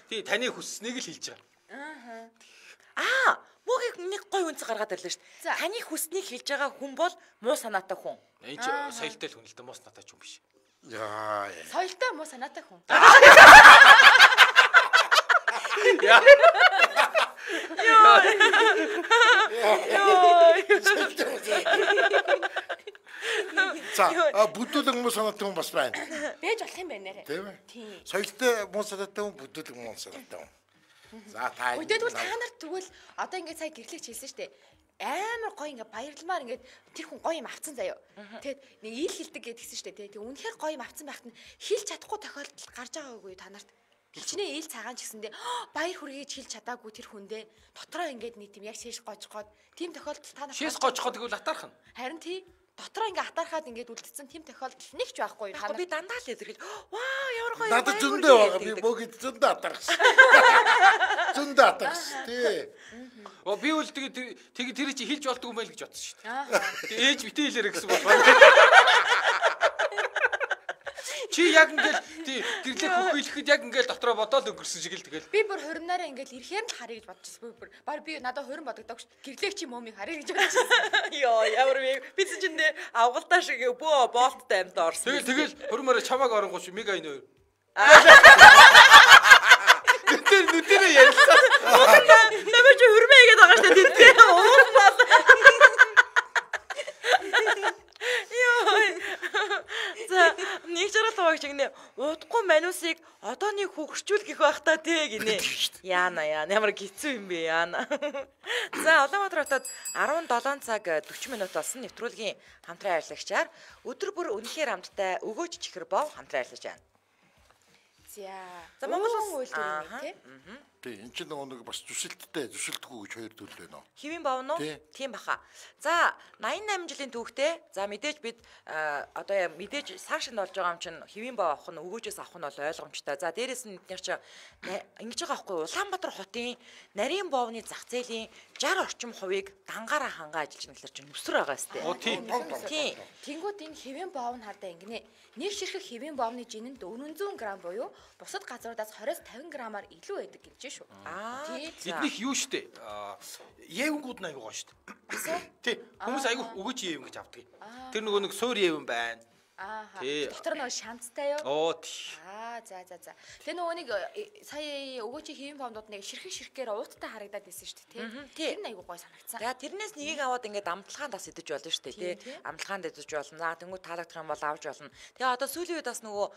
Тий, таны хүсснийг л хэлж байгаа. Аа, мөгийг нэг гой үнц гаргаад ирлээ шүү дээ. Таны хүснийг хэлж байгаа хүн бол муу санаатай хүн. Энэ чи соёлтой л хүн л дээ, муу санаатай ч юм биш. Яа. Соёлтой муу санаатай хүн. Яа. За, бүдүүлэг муу санаатай хүн бас байна. Бэж болох юм байна нэрэ. Тийм ээ. Соёлтой муу санаатай хүн, бүдүүлэг муу санаатай хүн. За та. Өдөөдөл та нарт тэгвэл одоо ингээд сая гэрлэгч хэлсэн шүү дээ. Амар гоё ингээ баярламаар ингээд тэр хүн гоё юм авцсан заяо. Тэгэд нэг ил хилдэг гэдгийгсэн шүү дээ. Тэг үнэхээр гоё юм авцсан байхад нь хилж чадахгүй тохиолдол гарч байгаагүй та нарт. Хилчнээ ил цагаан ч гэсэндээ баяр хүргэж хилж чадаагүй тэр хүндээ дотроо ингээд нэг тийм яг шиш гожгоод тийм тохиолдол та нарт шиш гожгоод тэгвэл атаарх нь. Харин тий дотроо ингээ атаархаад ингээд үлдсэн тийм тохиолдол нэг ч байхгүй та нар. Би дандаа л илэрхийл. Ваа ямар гоё. Надад зөндөө байгаа. Би богд зөндөө атаархсан. Зөндөө атаархсан тий. Оо би үл тэгээ тэгээ тэр чи хилж болдгүй юм байл гэж бодсон шүү дээ. Тэгээ ээж битээ хэлээрэ гэсэн болохоор. Чи яг ингээл тий гэрлээ хөхөйлөхэд яг ингээл дотроо бодоод өнгөрсөн шиг л тэгэл. Би бүр хуринаараа ингээл ирэхээр л харъя гэж бодчихсон. бүр баг би надад хурин бодогддог ш. Гэрлээг чи мөмийг харъя гэж бодчихсон. Йоо ямар вэ? Би чинь нэ авгалтаа шиг бөө болттой амьд орсон. Тэгэл тэгэл хурмаараа чамааг оронгооч мега энэ. Тэр нүдэрээ ярьсан. Намайг чи хурмээ гэдэг байгаа шүү дээ. Тэд уул бол. За нэг жаргалаа гэж гинэ удахгүй манусыг одоо нэг хөгшчүүлгэх байх та тий гинэ. Яана яана ямар гизүү юм бэ яана. За Улаанбаатар хотод sevenseven цаг forty минут болсон нэвтрүүлгийн хамтран ажиллагчаар өдөр бүр үнэхээр хамттай өгөөж чихэр бов хамтран ажиллаж байна. За Монгол хүн үйлдвэр юм тий. Тий, энэ чинь нэг бас зүсэлттэй, зүсэлтгүй гэж хоёр төрөл байна уу? Хэвэн бовно? Тийм баха. За eighty-eight жилийн түүхтэй. За мэдээж бид одоо мэдээж цааш нь болж байгаа юм чинь хэвэн бов авах нь өгөөжөөс авах нь бол ойлгомжтой. За дээрэс нь эдгээр чинь ингэж байгаа байхгүй Улаанбаатар хотын нарийн бовны зах зээлийн sixty орчим хувийг дангаараа хангаа ажиллаж нэглэр чинь нүсэр байгаа сте. Тийм. Тийм. Тэнгүүд энэ хэвэн бов нь хардаа ингэнэ. Нэг ширхэг хэвэн бовны жинэнд four hundred грамм буюу бусад газруудаас twenty-five граммаар илүү байдаг гэж шүү. Аа. Эднийх юу штэ? Евэнгүүд нь аягүй гоё штэ. Тий. Хүмүүс аягүй өгөөж евэн гэж авдаг. Тэр нөгөө нэг суур евэн байна. Аа. Дотор нөгөө шанцтай юу? Оо тий. Аа за за за. Тэгээ нөгөө нэг сая өгөөчийн хэвэн фондууд нэг ширхэг ширхгээр ууттай харагдаад байсан шүү дээ тий. Тэр нь айгуу гой санагдсан. За тэрнээс нэгийг аваад ингээд амтлагаанд бас идэж болно шүү дээ тий. Амтлагаанд идэж болно. За тэнгуү таалагдах юм бол авч болно. Тэгээ одоо сүүлийн үед бас нөгөө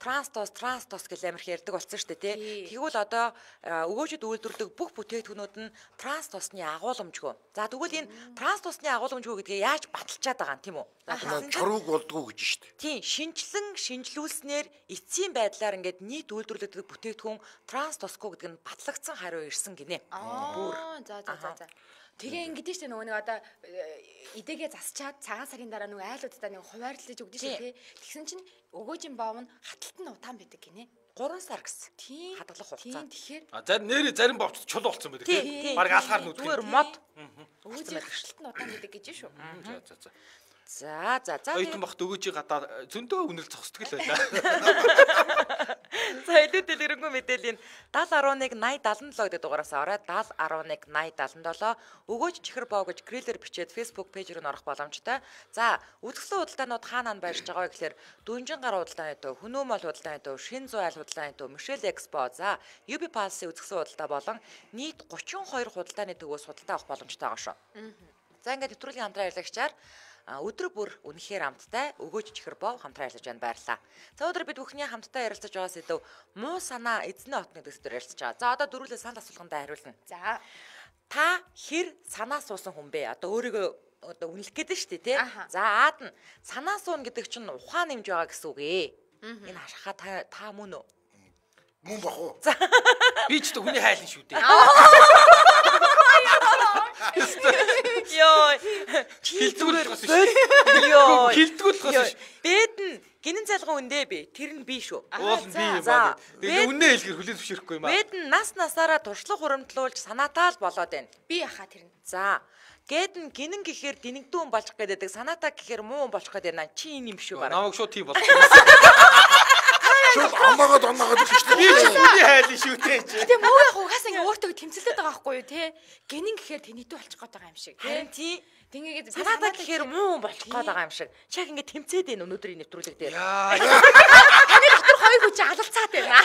транстос транстос гэж амар их ярьдаг болсон шүү дээ тий. Тэгвэл одоо өгөөжид үйлдвэрлэдэг бүх бүтээгдэхүүнүүд нь транстосны агуулмжгүй. За тэгвэл энэ транстосны агуулмжгүй гэдгээ яаж баталчаад байгаа юм тийм үү? Чарууг болдгоо гэж шүү дээ. Тийм, шинжилэн шинжилүүлснээр эцсийн байдлаар ингээд нийт үйлдвэрлэгдэх бүтээгдэхүүн транстосгүй гэдэг нь батлагдсан хариу ирсэн гинэ. Бүр. За за за за. Тэгээ ингэдэж штэ нөгөө нэг одоо идэгээ засчаад цагаан сарын дараа нөгөө айлуудаа нэг хуваарлаж өгдөө шүү тий. Тэгсэн чинь өгөөжийн баав нь хаталт нь удаан байдаг гинэ. гурван сар гэсэн. Тийм. Хадгалах хугацаа. Тийм тэгэхээр А зарим нэрээ зарим бовч чул болсон байдаг тий. Бараг алхаар нүдгэн. Зүгээр мод. өгөөжийн хаталт нь удаан байдаг гэж шүү. За за за. За за за. Ойтон бахт өгөөжийг гадаа зөндөө үнэл зогсдог л байлаа. За илүү дэлгэрэнгүй мэдээллийн даал арван нэг наяд седем гэдэг дугаараас ороод даал арван нэг наяд седем семь өгөөж чихэр боо гэж грилэр бичээд Facebook пэйж рүү орох боломжтой. За үзэсгэлэн худалдаанууд хаанаа байрж байгаа вэ гэхээр Дүнжин гар худалдааны төв, Хүнөөмол худалдааны төв, Шинзүү айл худалдааны төв, Мишель Экспо, за Юби Палсын үзэсгэлэн худалдаа болон нийт гучин хоёр худалдааны төвөөс худалдаа авах боломжтой байгаа шүү. За ингээд нэвтрүүлгийн хамтран ярилцагчаар өдөр бүр үнэхээр амттай өгөөж чихэр боо хамтран ярилцаж байна, баярлалаа. За өдөр бид бүхний хамтдаа ярилцаж байгаа сэдв муу санаа эзний отны гэдэг сэдвээр ярилцаж байгаа. За одоо дөрвөлээ санал асуулгандаа хариулна. За та хэр санаа суусан хүн бэ? Одоо өөрийгөө одоо үнэлэх гэдэг шүү дээ тий. За аад нь санаа суун гэдэг чинь ухаан нэмж байгаа гэсэн үг ээ. Энэ хашаа та та мөн үү? Мөн бах уу? Би ч та хүний хайлан шүү дээ. Йоо. Хилдгүүлэх гэсэн шүү. Йоо. Хилдгүүлэх гэсэн шүү. Бэд нь гинэн залган үндэ би. Тэр нь би шүү. Уул нь би юм аа. Тэгээ үнэ хэлгэр хүлээн зөвшөөрөхгүй юм аа. Бэд нь нас насаараа туршлага хуримтлуулж санаатаа л болоод байна. би яхаа тэр нь. За гэд нь гинэн гэхээр динэгдүүн болох гэдэг санаатаа гэхээр муу болох гэдэг байна. Чи энэ юм шүү бараа. Намайг шууд тийм болсон. Шууд амаагаад оноогаад гэж шүү Би ч хүний хайлан шүү дээ. Гэтэ муу яг угаасаа ингээ өөртөө тэмцэлдээд байгаа байхгүй юу те. Гинэн гэхээр тэнийдүү болчих гээд байгаа юм шиг. Харин тий Тингээгээд санаатаа гэхээр муу болох гээд байгаа юм шиг. Чаг ингээ тэмцээд байна өнөөдрийн нэвтрүүлэг дээр. Яа. таны дотор хоёр хүч алалцаад байна.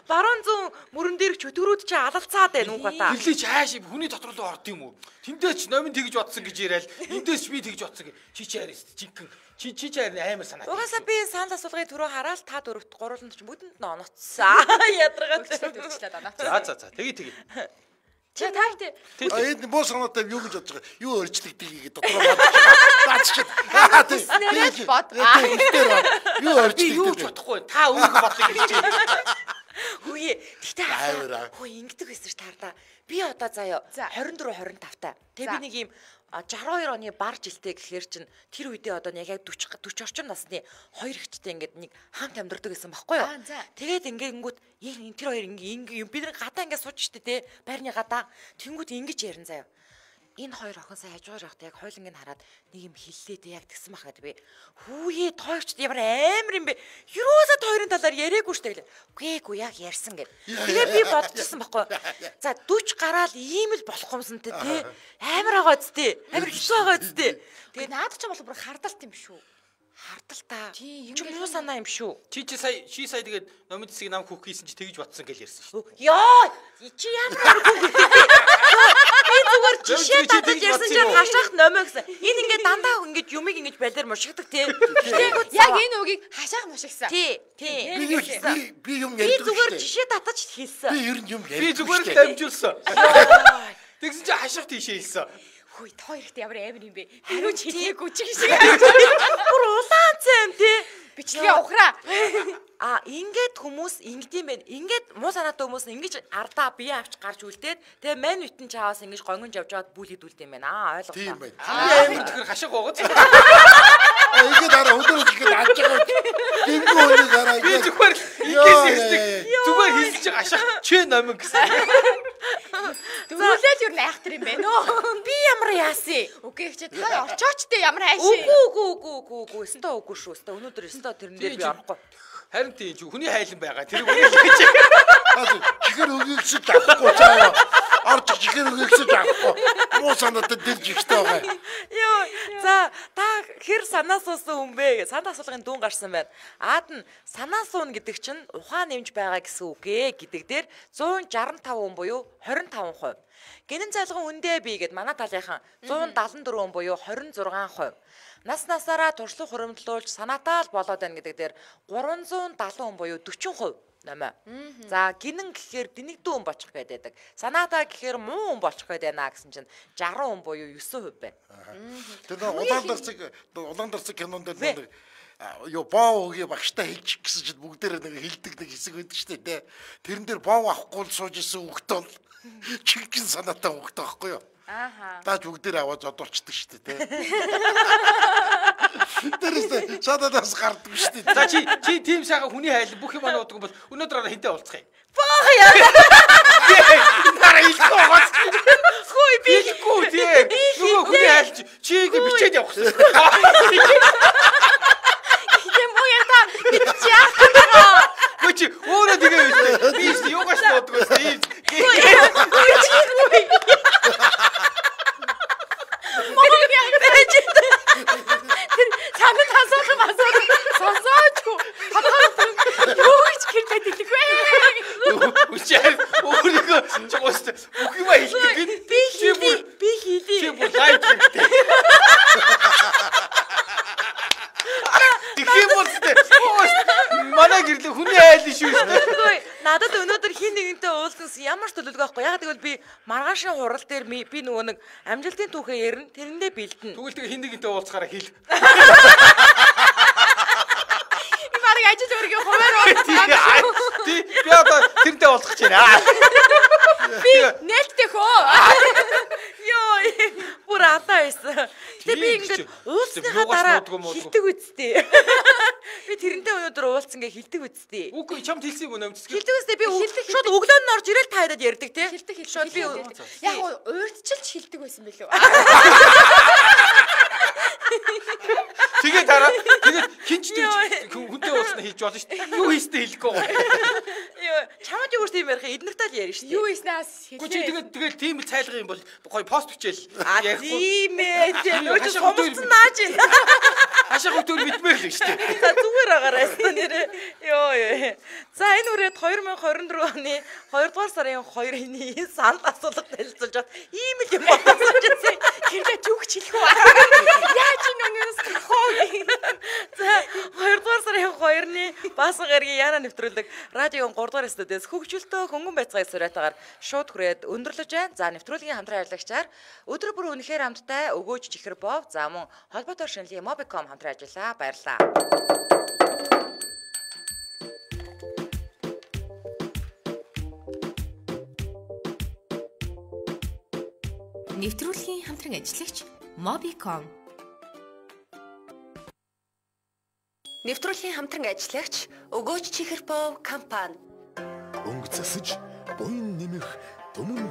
Баруун зүүн мөрөн дээр чөтгөрүүд чи алалцаад байна уу гата. Тэрлээ чааш хүний дотор руу орд юм уу? Тэндээ ч номин тэгж бодсон гэж яриад эндээс ч би тэгж бодсон гэж чи чи харис жинхэнэ чи чи чи амар санаа. Угаасаа би санал асуулгын түрүү хараад та дөрөвт гурван ч бүтэнд нь оноцсон. Ядаргаад төрчлээд оноо. За за за тэгээ тэгээ. Чи таартай. дээ. А энэ боо санаатай юу гэж бодож байгаа? Юу өөрчлөгдөг гэдэг дотроо бодож байгаа. Дааччихад. Аа тийм. Нэрэл бод. Юу Би өөрчлөгдөг? юу ч бодохгүй. Та үүнийг бодлоо гэж байна. Хөөе. Тэгтээ Аавраа. хөөе ингэдэг байсан ш таардаа. Би одоо заяа двадцать four twenty-five та. Тэг би нэг юм sixty-two оны бар жилтэй гэхээр чин тэр үедээ одоо яг forty forty орчим насны хоёр ихчтэй ингээд нэг хамт амьдардаг гэсэн байхгүй юу? Тэгээд ингэнгүүт энэ тэр хоёр ингээ бид нар гадаа ингээ сууж штэ те байрны гадаа тэнгүүт ингэж ярин заяа. Энэ хоёр охин сая хажуугаар явахдаа яг хойлонг нь хараад нэг юм хэллээ те яг тэгсэн бах гэдэг би. Хүүе тоогч ямар амар юм бэ? Юусаа хоёрын талаар яриаггүй штэ гэлээ. Үгүй гүй яг ярьсан гэд. Тэгээ би бодчихсон байхгүй. За forty гараал ийм л болох юмсан те амар байгаа зү. Амар хэцүү байгаа зү. Тэгээ наад ч бол бүр хардалт юм шүү. Хардал та. Тий, Чи муу санаа юм шүү. Чи чи сая чи сая тэгээд номын цэсийг нам хүүх хийсэн чи тэгж бодсон гэж ярьсан шүү. Йоо, чи ямар аргагүй би зүгээр жишээ татаж ярьсан чинь хашаах номоо гэсэн. Энэ ингээд дандаа ингээд юмыг ингэж балиар мушигдаг тий. Яг энэ үгийг хашаах мушигсан. Тий, тий. Би би би юм Би ярьдаг шүү. зүгээр дээ. жишээ татаж хэлсэн. Би ер нь юм ярьдаг. Би зүгээр л шүү дээ. дамжуулсан. Тэгсэн чи хашаах тийшээ хэлсэн. Хөөе, та хоёр ихтэй ямар амар юм бэ? Хариу ч хэлээгүй ч шиг. Бүр улаан цайм тий. Бичлэгээ ухраа. А ингээд хүмүүс ингэдэм байх. Ингээд муу санаатай хүмүүс ингэж ардаа бие авч гарч үлдээд тэгээ мань витэн чааваас ингэж гонгонж явж аваад бүл хийдүүлдэг юм байна. Аа ойлголоо. Тийм байх. Амар тэгэхээр хашаах гоогоц. А ихэд дараа өдөр ихэд алж байгаа. Дэмгүй үнийг хараа. Би зүгээр ингээс хэлдэг. Зүгээр хэлж байгаа хашаах чи номин гэсэн. Дөрүүлээд юу найхтар юм бэ нөө? Би ямар яасан? Үгүй чи та орчоочтой ямар хайш. Үгүй үгүй үгүй үгүй үгүй. Өстө үгүй шүү. Өстө өнөөдөр өстө тэрэн дээр би орохгүй. Харин тийм хүний хайлан байгаа. Тэр үнийг хэлж. Чихэр өгөөч авахгүй цаа. орж чихэр өгсөж авахгүй. Муу санаатай дэрж ихтэй байгаа. Йоо. За та хэр санаа суусан хүн бэ гэж санд асуулгын дүүн гарсан байна. Аад нь санаа суун гэдэг чинь ухаан нэмж байгаа гэсэн үг ээ гэдэг дээр зуун жаргал тав хүн буюу хорин таван хувь. Гинэн цайлган үндэ бий гэд манай талынхан зуун далан дөрвөн хүн буюу хорин зургаан хувь. Нас насаараа туршлага хуримтлуулж санаатай л болоод байна гэдэг дээр гурван зуун далан хүн буюу дөрвөн хувь намаа. За гинэн гэхээр дэнэгдүү хүн болчих гээд байдаг. Санаатай гэхээр муу хүн болчих гээд байна гэсэн чинь жаргал хүн буюу девять хувь байна. Тэр нэг улаан дарцэг улаан дарцэг кинонд нэг ёо боо өгийн багштай хэлчих гэсэн чинь бүгдээр нэг хилдэг нэг хэсэг байдаг шүү дээ. Тэрэн дээр боо авахгүй л сууж исэн хүүхд бол чихгэн санаатай хүүхд байхгүй юу? Ааха. Дааж бүгдээр аваад зодорчдөг шүү дээ. Тэрээс шатадаас гардаг шүү дээ. За чи чи тийм сайхан хүний хайл бүх юм ануудаг бол өнөөдөр араа хинтээ уулзах юм. Боо яа. Нара илгүй гоц. Хөөе би Илгүй тийм. Нөгөө хүний хайл чиг бичээд явах гэсэн. Тийм үү яа та чи яах вэ? Чи өөрөө тэгээ би юугаш боддог байсан. Санаа асуулах асуулах сонсоочгүй. Юу гэж хэрэг хэлэх вэ? Үчээр өөрийгөө чогоос бүх юм хэлдэг. би хийлий би хийлий. Чи бүр лайк хийдэг. Тэгэх юм бол манай гэрлээ хүний айл шүү дээ. Хөөе надад өнөөдөр хин нэгэнтэй уулзсан ямар ч төлөвлөгөө байхгүй. Яг тэгвэл би маргаашийн хурал дээр би нөгөө нэг амжилтын түүхээ ярина. Тэрэндээ бэлдэнэ. Тэгвэл тэгээ хин нэгэнтэй уулзахаараа хэл. Би барыг ажил өөрийгөө хуваар уулзсан. Тий би одоо тэрнтэй уулзах гэж байна. Би нээлттэй хөө. Йоо бүр атаа байсан. Тэгээ би ингээд уулзсныхаа дараа хилдэг үсттэй. Би тэрнтэй өнөөдөр уулзсан гэ хилдэг үсттэй. Үгүй чамд хэлсийг өнөө амжсгий. Хилдэг үсттэй би шууд өглөө нь орж ирэл тайраад ярьдаг тий. Хилдэг хилдэг. Шууд би яг уурдчилж хилдэг байсан билүү? Тэгээ дараа тэгээд хинч хүнтэй уулзна хийж болно шүү дээ. Юу хийстэй хэлэхгүй байгаа. Йоо чамд юу тийм ярих эднэртэй л ярина шүү дээ. Юу ийснаас Үгүй чи тэгээд тэгээд тийм л цайлгах юм бол гоё пост бичээл. Тийм ээ. Нөгөө сумсан нааж ин. Хашаа хөтөр битмээр л шүү дээ. За зүгээр агаарай нэрээ. Йоо ёо. За энэ үрээд две тысячи двадцать четыре оны хоёрдугаар сарын хоёрын санд асуулгад танилцуулж бат ийм л юм бодсон ч гэсэн хэрэг зүгч хэлэх үү? Яаж энэ өнөөс хоо. За хоёрдугаар сарын хоёрны баасан гарагийн яна нэвтрүүлэг радион три дугаар студиэс хөгжөлтөө хөнгөн байцгааг сураатаагаар шууд хүрээд өндөрлөж байна. За нэвтрүүлгийн хамтран ажиллагчаар өдөр бүр үнэхээр хамттай өгөөж чихэр бов за мөн холбоотой шинжилгээ Mobicom хамтран ажиллаа. Баярлалаа. Нэвтрүүлгийн хамтран ажиллагч Mobicom. Нэвтрүүлгийн хамтран ажиллагч өгөөж чихэр бов компани. Өнгө засаж буян нэмэх түмэн